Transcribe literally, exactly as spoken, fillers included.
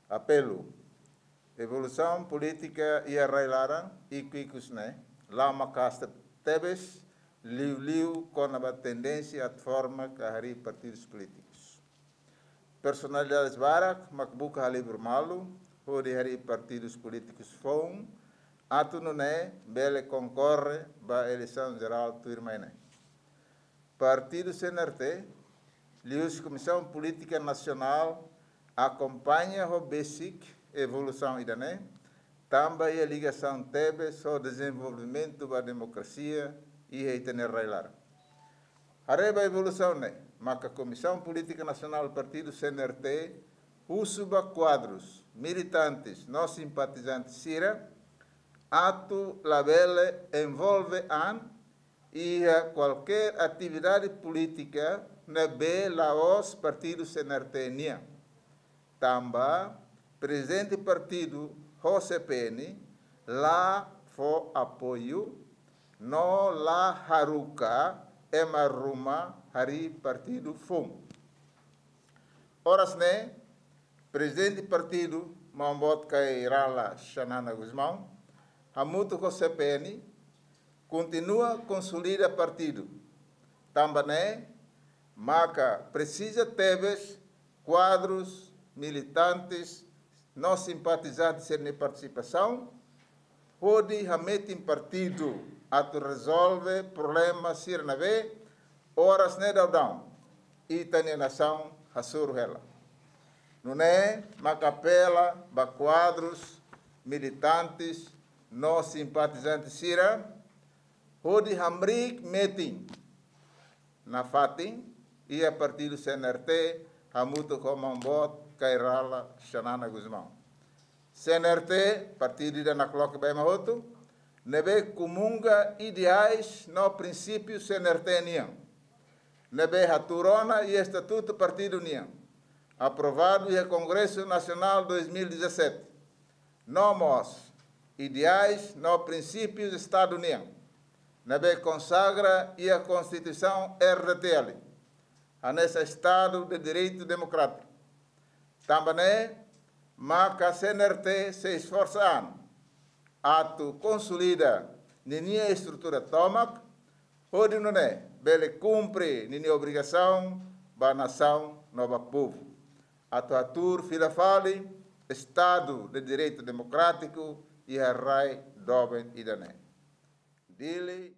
Apelu. Evolusaun polítika iha rai-laran ikus-ikus ne'e la maka'as tebes, liuliu kona-ba tendénsia atu forma ka harii partidus polítikus. Personalidades barak mak buka halibur malu hodi harii partidus polítikus foun, atu nune'e bele konkorre ba eleisaun jerál tuirmai ne'e. Partidu C N R T, liuhusi Komisaun Polítika Nasionál, akompaña ho besik evolusaun ida-ne'e, tanba iha ligasaun tebes ho dezenvolvimentu ba demokrasia iha ita-nia rai-laran. Haree ba evolusaun ne'e, maka Komisaun Polítika Nasionál Partidu C N R T husu ba kuadrus, militantes no simpatizante sira atu labele envolve an iha kualkér atividade polítika ne'ebé la'ós partidu C N R T nian. Tanba prezidente partidu ho C P N la fó apoiu no la haruka ema ruma harii partidu foun. Oras ne'e, prezidente partidu, Maun Boot Kay Rala Xanana Gusmão, hamutuk ho C P N, kontinua konsolida partidu. Tanba ne'e maka presiza tebes kuadrus, militantes no simpatizante sira-nia partisipasaun hodi hametin partidu atu rezolve problema sira ne'ebé oras ne'e daudaun ita-nia nasaun hasoru hela. Nune'e maka apela ba kuadrus, militantes no simpatizante sira hodi hamriik metin nafatin iha partidu C N R T hamutuk ho Maun Boot Kay Rala Xanana Gusmão. C N R T, partidu ida nakloke ba ema hotu, ne'ebé komunga ideais no prinsípiu C N R T nian, ne'ebé hatuur ona iha estatutu partidu nian, aprovadu iha Kongresu Nasionál dois mil e dezassete. No mós ideais no prinsípius Estadu nian, ne'ebé konsagra iha Konstituisaun R D T L, hanesan Estadu de Direitu Demokrátiku. Tanba ne'e maka C N R T sei esforsa an atu konsolida ninia estrutura tomak, hodi nune'e bele kumpre ninia obrigasaun ba nasaun no ba povu, atu hatuur fila fali Estadu de Direitu Demokrátiku iha rai doben ida-ne'e. Dili,